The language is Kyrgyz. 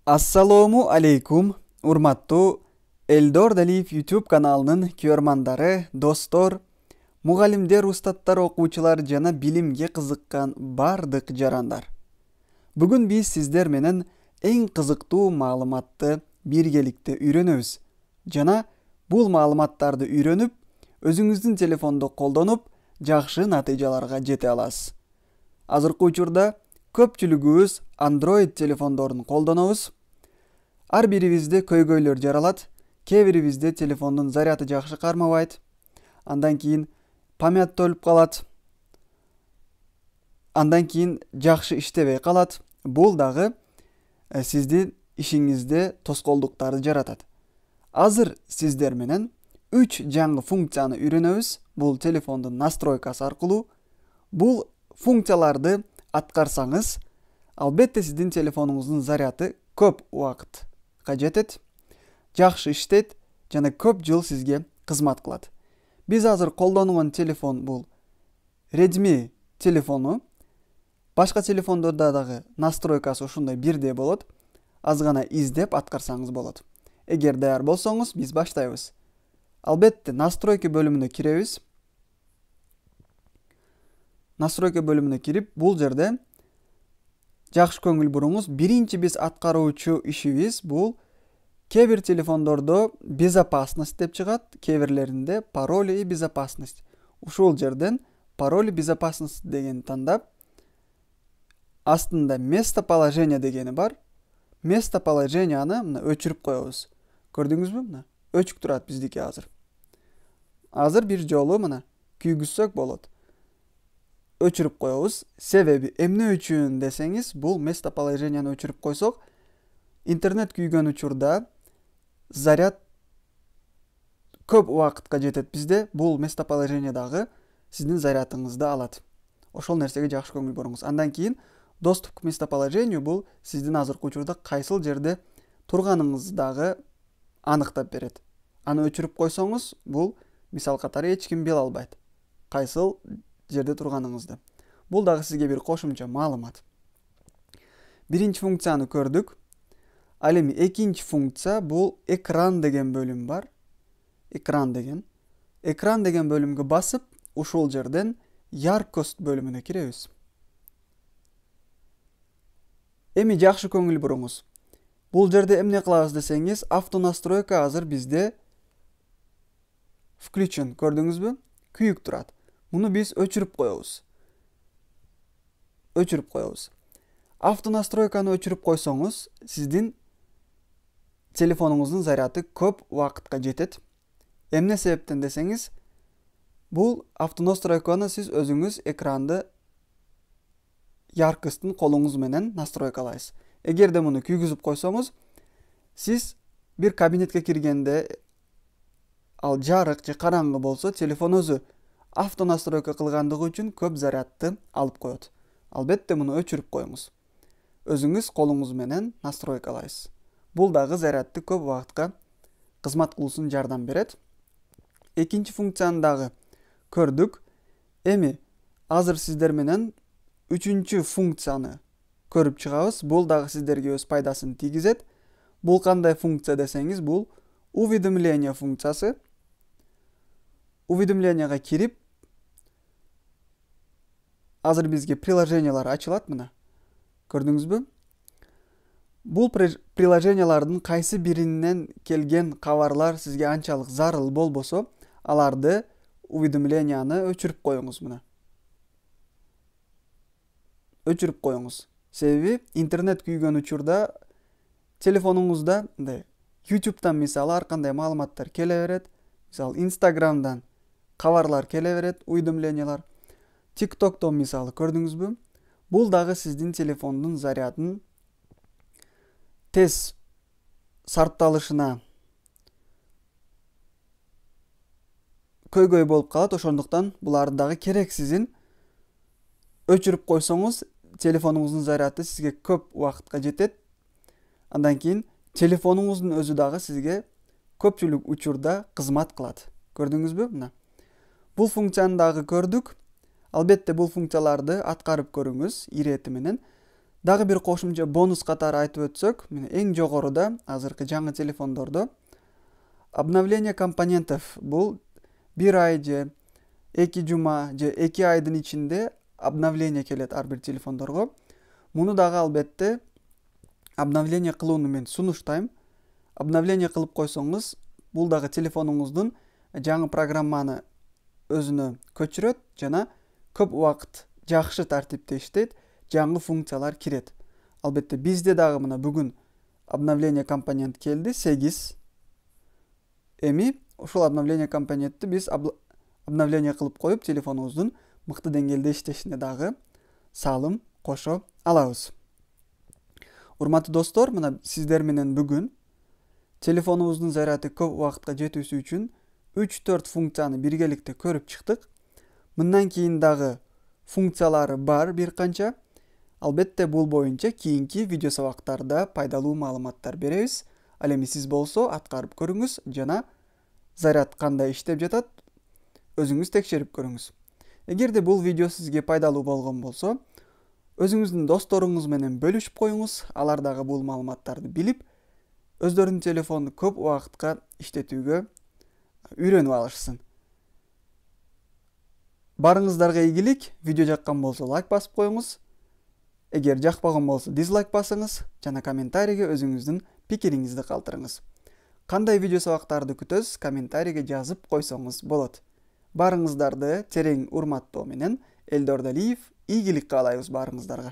Ассалому алейкум, урматтуу Элдор Далиев YouTube каналынын көрмандары, достор, мугалимдер, устаттар, окуучулар жана билимге кызыккан бардык жарандар. Бүгүн биз сиздер менен эң кызыктуу маалыматты биргеликте үйрөнөбүз жана бул маалыматтарды үйрөнүп, өзүңүздүн телефондо колдонуп, жакшы натыйжаларга жете аласыз. Азыркы учурда көпчүлүгүбүз Android телефондорун колдонобуз. Ар бирибизде көйгөйлөр жаралат. Кээ бирибизде телефондун заряды жакшы кармабайт. Андан кийин память толуп калат. Андан кийин жакшы иштебей калат. Бул дагы сиздин ишиңизде тоскоолдуктарды жаратат. Азыр сиздер менен 3 жаңы функцияны үйрөнөбүз. Бул телефондун настройкасы аркылуу. Бул функцияларды аткарсаңыз, албетте сиздин телефонуңуздун заряды көп убакытка жетет, жакшы иштейт жана көп жыл сизге кызмат кылат. Биз азыр колдонгон телефон бул Redmi телефону. Башка телефондордо дагы настройкасы ушундай бирдей болот. Аз гана издеп аткарсаңыз болот. Эгер даяр болсоңуз, биз баштайбыз. Албетте настройка бөлүмүнө киребиз. Настройка бөлүмүнө кирип, бул жерде жакшы көңүл буруңуз. Биринчи биз аткаруучу ишибиз бул кээ бир телефондордо безопасность деп чыгат, кээ бирлеринде пароль и безопасность. Ушул жерден пароль и безопасность деген тандап, астында местоположение дегени бар. Местоположенияны мына өчүрүп коебуз. Көрдүңүзбү? Мына өчүк турат биздики азыр. Азыр бир жолу мына күйгүзсөк болот. Өчүрүп коебуз. Себеби эмне үчүн десеңиз, бул местоположенияны өчүрүп койсок, интернет күйгөн учурда заряд көп убакытка жетет бизде. Бул местоположение дагы сиздин зарядыңызды алат. Ошол нерсеге жакшы көңүл буруңуз. Андан кийин доступ к местоположению бул сиздин азыркы учурда кайсыл жерде турганыңызды дагы аныктап берет. Аны өчүрүп койсоңуз, бул мисал катары эч ким биле албайт кайсыл жерде турганыңызды. Бул дагы сизге бир кошумча маалымат. Биринчи функцияны көрдүк. Ал эми экинчи функция бул экран деген бөлүм бар. Экран деген бөлүмгө басып, ушул жерден яркость бөлүмүнө киребиз. Эми жакшы көңүл буруңуз. Бул жерде эмне кылабыз десеңиз, автонастройка азыр бизде включен, көрдүңүзбү? Күйүк турат. Муну биз өчүрүп коебуз. Автонастройканы өчүрүп койсоңуз, сиздин телефонуңуздун заряды көп убакытка жетет. Эмне себептен десеңиз, бул автонастройканы сиз өзүңүз экранды яркостун колуңуз менен настройкалайсыз. Эгерде муну күйгүзүп койсоңуз, сиз бир кабинетке киргенде ал жарык же караңгы болсо, телефон өзү автонастройка кылгандыгы үчүн көп зарядты алып коет. Албетте муну өчүрүп коюңуз. Өзүңүз колуңуз менен настройкалайсыз. Бул дагы зарядты көп убакытка кызмат кылуусун жардам берет. Экинчи функцияны дагы көрдүк. Эми азыр сиздер менен үчүнчү функцияны көрүп чыгабыз. Бул дагы сиздерге өз пайдасын тийгизет. Бул кандай функция десеңиз, бул уведомление функциясы. Уведомленияга кирип, азыр бизге приложениялар ачылат мына. Көрдүңүзбү? Бул приложениялардын кайсы биринен келген кабарлар сизге анчалык зарыл болбосо, аларды уведомленияны өчүрүп коюңуз мына. Өчүрүп коюңуз. Себеби интернет күйгөн учурда телефонуңузда YouTube'дан мисалы ар кандай маалыматтар келе берет. Мисалы Instagram'дан кабарлар келе берет, уведомлениялар. TikTok'тон мисалы, көрдүңүзбү? Бул дагы сиздин телефондун зарядын тез сарпталышына көйгөй болуп калат. Ошондуктан буларды дагы керексизин өчүрүп койсоңуз, телефонуңуздун заряды сизге көп убакытка жетет. Андан кийин телефонуңуздун өзү дагы сизге көпчүлүк учурда кызмат кылат. Көрдүңүзбү? Мына. Бул функцияны дагы көрдүк. Албетте бул функцияларды аткарып көрүңүз ирети менен. Дагы бир кошумча бонус катары айтып өтсөк, мына эң жогоруда азыркы жаңы телефондордо обновление компонентов бул 1 ай же 2 жума же 2 айдын ичинде обновление келет ар бир телефондорго. Муну дагы албетте обновление кылууну мен сунуштайм. Обновление кылып койсоңуз, бул дагы телефонуңуздун жаңы программаны өзүнө көчүрөт жана көп убакыт жакшы тартипте иштейт, жаңы функциялар кирет. Албетте бизде дагы мына бүгүн обновление компонент келди 8. Эми ушул обновление компонентти биз обновление кылып коюп, телефонубуздун мыкты деңгээлде иштешине дагы салым кошо алабыз. Урматтуу достор, мына сиздер менен бүгүн телефонубуздун заряды көп убакытка жетүүсү үчүн 3-4 функцияны биргеликте көрүп чыктык. Мындан кийин дагы функциялары бар бир канча. Албетте бул боюнча кийинки видео сабактарда пайдалуу маалыматтар беребиз. Ал эми сиз болсо аткарып көрүңүз жана заряд кандай иштеп жатат өзүңүз текшерип көрүңүз. Эгерде бул видео сизге пайдалуу болгон болсо, өзүңүздүн досторуңуз менен бөлүшүп коюңуз. Алар дагы бул маалыматтарды билип, өздөрүнүн телефонду көп убакытка иштетүүгө үйрөнүп алышсын. Барыңыздарга ийгилик. Видео жаккан болсо лайк басып коюңуз. Эгер жакпаган болсо дизлайк басыңыз жана комментарийге өзүңүздүн пикириңизди калтырыңыз. Кандай видео сабактарды күтөсүз, комментарийге жазып койсоңуз болот. Барыңыздарды терең урматтоо менен Элдор Далиев ийгилик каалайбыз барыңыздарга.